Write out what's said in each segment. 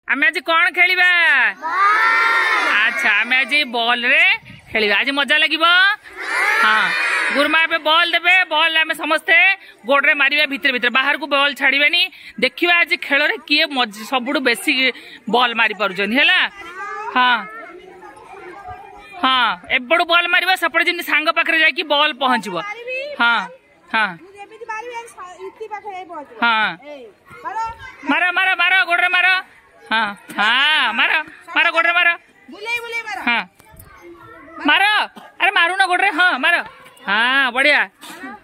ଆମେ ଆଜି କଣ ଖେଳିବା? ଆଚ୍ଛା, ଆମେ ଆଜି ବଲ ରେ ଖେଳିବା। ଆଜି ମଜା ଲାଗିବ। ହଁ, ଗୁରୁମା ଏବେ ବଲ୍ ଦେବେ। ବଲ୍ ଆମେ ସମସ୍ତେ ଗୋଡରେ ମାରିବା ଭିତରେ ଭିତରେ, ବାହାରକୁ ବଲ୍ ଛାଡିବେନି। ଦେଖିବା ଆଜି ଖେଳରେ କିଏ ସବୁଠୁ ବେଶୀ ବଲ୍ ମାରି ପାରୁଛନ୍ତି। ହେଲା? ହଁ ହଁ, ଏପଟୁ ବଲ୍ ମାରିବା, ସେପଟେ ଯେମିତି ସାଙ୍ଗ ପାଖରେ ଯାଇକି ବଲ୍ ପହଞ୍ଚିବ। ହଁ ହଁ ହଁ, ମାର ମାର ମାର, ଗୋଡରେ ମାର। ହଁ ହଁ, ମାର ମାର, ଗୋଡରେ ମାର। ହଁ ମାର, ଆରେ ମାରୁନ ଗୋଡରେ। ହଁ ମାର, ହଁ ବଢିଆ।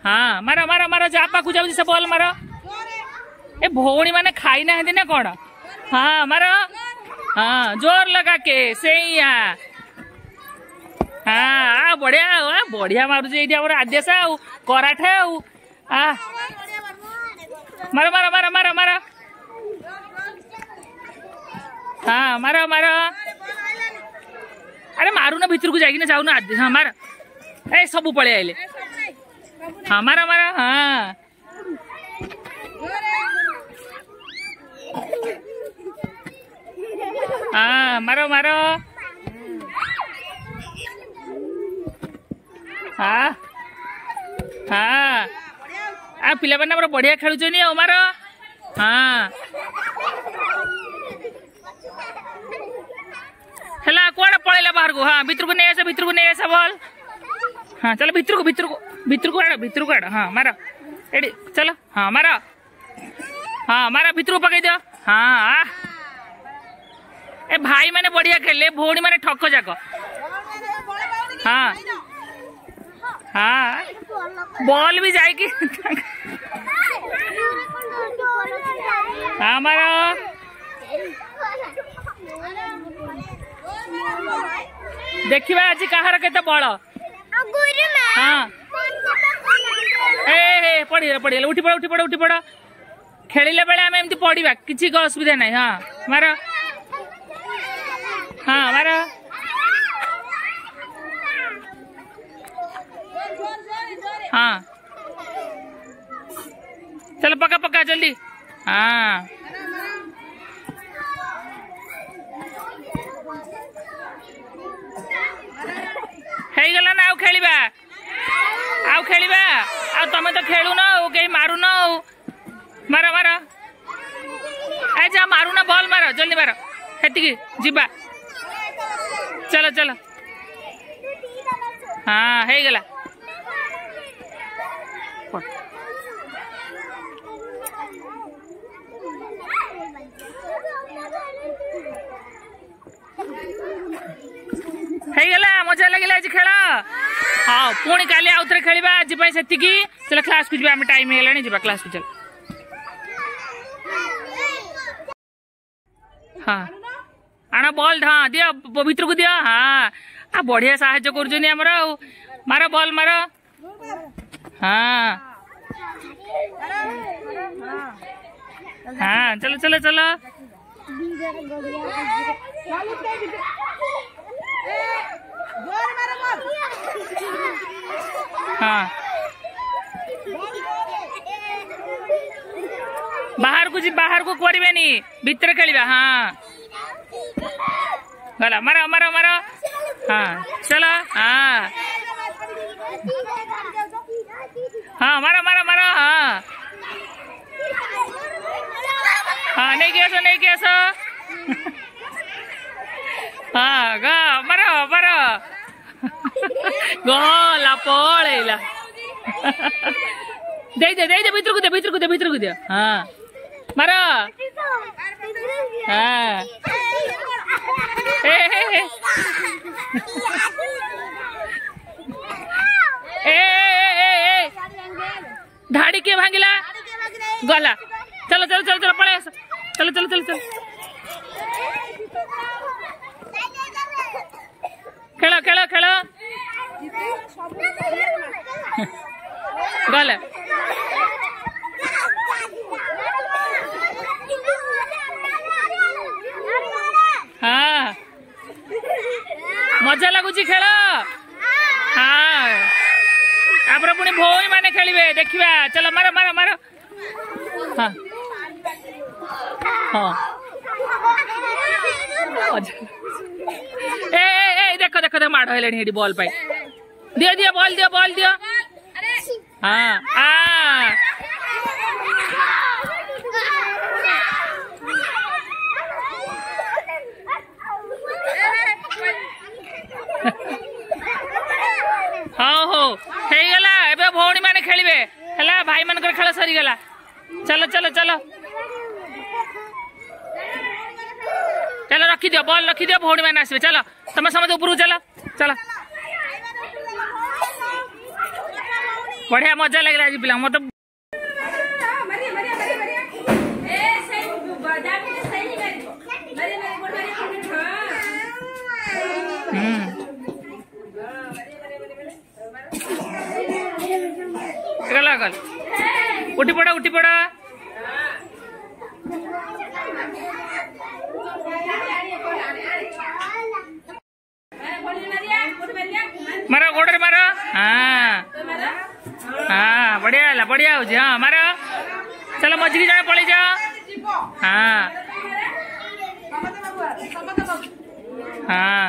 ହଁ ମାର ମାର ମାର, ଯାହା ପାଖକୁ ଯାଉଛି ସେ ବଲ୍ ମାର। ଏ ଭଉଣୀ ମାନେ ଖାଇନାହାନ୍ତି ନା କଣ? ହଁ ମାର, ହଁ ଜୋର ଲଗା କେ ସେଇଆ। ହଁ ବଢିଆ ବଢିଆ ମାରୁଛି ଏଇଠି ଆମର ଆଦ୍ୟାସା ଆଉ କରାଠେ ଆଉ। ଆ ମାର ମାର ମାର ମାର ମାର, ହଁ ମାର ମାର। ଆରେ ମାରୁନ ଭିତରକୁ ଯାଇକିନା, ଯାଉନ। ହଁ ମାର, ଏ ସବୁ ପଳେଇ ଆଇଲେ। ହଁ ମାର ମାର, ହଁ ହଁ ମାର ମାର। ହଁ ହଁ, ଆଉ ପିଲାମାନେ ଆମର ବଢିଆ ଖେଳୁଛନ୍ତି ଆଉ। ମାର, ହଁ ହେଲା। କୁଆଡେ ପଳେଇଲା ବାହାରକୁ? ହଁ ଭିତରକୁ ନେଇ ଆସ, ଭିତରକୁ ନେଇ ଆସ ବଲ୍। ହଁ ଚାଲ ଭିତରକୁ, ଭିତରକୁ, ଭିତରକୁ ଆଡ଼, ଭିତରକୁ ଆଡ଼। ହଁ ମାର ଏଠି, ଚାଲ। ହଁ ମାର, ହଁ ମାର, ଭିତରକୁ ପକେଇ ଦିଅ। ହଁ, ଏ ଭାଇ ମାନେ ବଢିଆ ଖେଳିଲେ, ଭଉଣୀ ମାନେ ଠକ ଯାକ। ହଁ ହଁ, ବଲ୍ ବି ଯାଇକି। ହଁ ମାର। ଦେଖିବା ଆଜି କାହାର କେତେ ବଳ। ହଁ, ଏ ପଡିଗଲା ପଡିଗଲା, ଉଠି ପଡ, ଉଠି ପଡ, ଉଠି ପଡ। ଖେଳିଲା ବେଳେ ଆମେ ଏମିତି ପଡିବା, କିଛି ଅସୁବିଧା ନାହିଁ। ହଁ ମାର, ହଁ ମାର। ହଁ ଚାଲ, ପକା ପକା ଜଲ୍ଦି। ହଁ ହେଇଗଲା ନା? ଆଉ ଖେଳିବା, ଆଉ ଖେଳିବା। ଆଉ ତମେ ତ ଖେଳୁନ, ଆଉ କେହି ମାରୁନ। ଆଉ ମାର ମାର, ଏ ଯା ମାରୁନ, ବଲ୍ ମାର, ଜଲ୍ଦି ମାର। ସେତିକି ଯିବା, ଚାଲ ଚାଲ। ହଁ ହେଇଗଲା, ହେଇଗଲା। ମଜା ଲାଗିଲା ଆଜି ଖେଳ। ହଁ, ପୁଣି କାଲି ଆଉ ଥରେ ଖେଳିବା। ଆଜି ପାଇଁ ସେତିକି। ଚାଲ କ୍ଲାସକୁ ଯିବା ଆମେ, ଟାଇମ ହେଇଗଲାଣି, ଯିବା କ୍ଲାସକୁ ଚାଲ। ହଁ ଆଣ ବଲ୍, ହଁ ଦିଅ ଭିତରକୁ ଦିଅ। ହଁ, ଆଉ ବଢିଆ ସାହାଯ୍ୟ କରୁଛନ୍ତି ଆମର। ଆଉ ମାର ବଲ୍ ମାର। ହଁ ହଁ, ଚାଲ ଚାଲ ଚାଲ। ହଁ ବାହାରକୁ ଯିବ, ବାହାରକୁ କରିବେନି, ଭିତରେ ଖେଳିବା। ହଁ ଗଲା, ମାର ମାର ମାର। ହଁ ଚାଲ, ହଁ ହଁ ମାର ମାର ମାର। ହଁ ହଁ, ନେଇକି ଆସ, ନେଇକି ଆସ। ହଁ ଗ, ମାର ମାର, ଗଲା ପଳେଇଲା। ଦେଇଦେ ଦେଇଦେ, ଭିତରକୁ ଦେ, ଭିତରକୁ ଦେ, ଭିତରକୁ ଦିଅ। ହଁ ମାର। ହଁ ଏ ଏ ଏ, ଧାଡି କିଏ ଭାଙ୍ଗିଲା? ଗଲା, ଚାଲ ଚାଲ ଚାଲ ଚାଲ, ପଳେଇ ଆସ, ଚାଲ ଚାଲ ଚାଲ ଚାଲ। ଖେଳ ଖେଳ ଖେଳ, ଗଲା। ହଁ ମଜା ଲାଗୁଛି ଖେଳ। ହଁ, ତାପରେ ପୁଣି ଭଉଣୀ ମାନେ ଖେଳିବେ, ଦେଖିବା। ଚାଲ ମାର ମାର ମାର। ହଁ ହଁ। ମଜା। ଏ ଏ ଦେଖ ଦେଖ ଦେଖ, ମାଡ଼ ହେଲେଣି ଏଠି ବଲ୍ ପାଇଁ। ଦିଅ ଦିଅ ବଲ୍ ଦିଅ, ବଲ୍ ଦିଅ। ହଁ, ଆ ହଉ ହଉ, ହେଇଗଲା। ଏବେ ଭଉଣୀ ମାନେ ଖେଳିବେ, ହେଲା? ଭାଇ ମାନଙ୍କର ଖେଳ ସରିଗଲା। ଚାଲ ଚାଲ ଚାଲ ଚାଲ, ରଖିଦିଅ ବଲ୍, ରଖିଦିଅ, ଭଉଣୀ ମାନେ ଆସିବେ। ଚାଲ, ତମେ ସମସ୍ତେ ଉପରକୁ ଚାଲ ଚାଲ। ବଢିଆ ମଜା ଲାଗିଲା ଆଜି ପିଲା ମତେ। ଗଲା ଗଲା, ଉଠି ପଡ, ଉଠି ପଡ। ମାର, ଗୋଡରେ ମାର। ହଁ ହଁ, ବଢିଆ ହେଲା, ବଢିଆ ହଉଛି। ହଁ, ମାର। ଚାଲ, ମଝିକି ଜଣେ ପଳେଇ ଯାଅ। ହଁ ହଁ,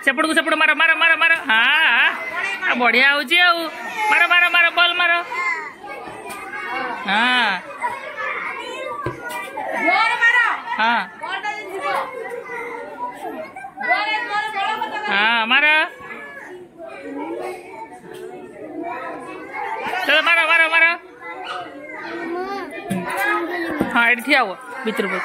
ସେପଟକୁ ସେପଟୁ ମାର ମାର ମାର ମାର। ହଁ, ବଢିଆ ହଉଛି। ଆଉ ମାର ମାର ମାର, ବଲ୍ ମାର। ହଁ ହଁ ହଁ, ମାର। ଚାଲ, ମାର ମାର ମାର। ହଁ, ଏଠି ଠିଆ ହୁଅ ଭିତରକୁ।